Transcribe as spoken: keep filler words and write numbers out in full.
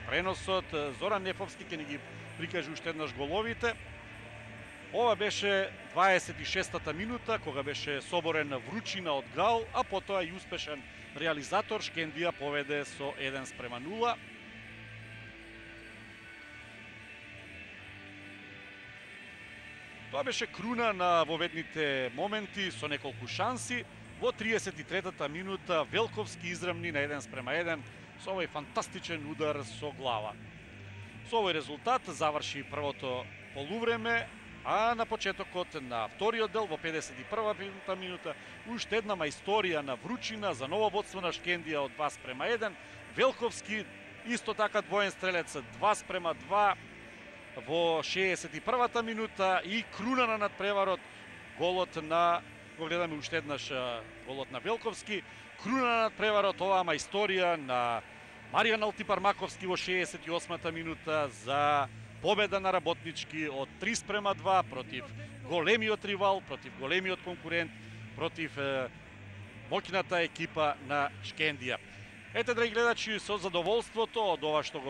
Преносот Зоран Нефовски ќе ни ги прикаже уште еднаш головите. Ова беше дваесет и шестата минута, кога беше соборен вручина од гал, а потоа и успешен реализатор. Шкендија поведе со еден спрема нула. Тоа беше круна на воведните моменти со неколку шанси. Во триесет и третата минута Велковски израмни на еден спрема еден со овој фантастичен удар со глава. Со овој резултат заврши првото полувреме, а на почетокот на вториот дел во педесет и првата минута уште една мајсторија на вручина за ново водство на Шкендија од два спрема еден. Велковски исто така двоен стрелец, два спрема два во шеесет и првата минута и круна на надпреварот голот на го гледаме уште еднаш голот на Велковски. Круна на надпреварот оваа мајсторија на Маријан Алтипармаковски во шеесет и осмата минута за победа на Работнички од три спрема два против големиот ривал, против големиот конкурент, против е, моќната екипа на Шкендија. Ете, драги гледачи, со задоволството од ова што го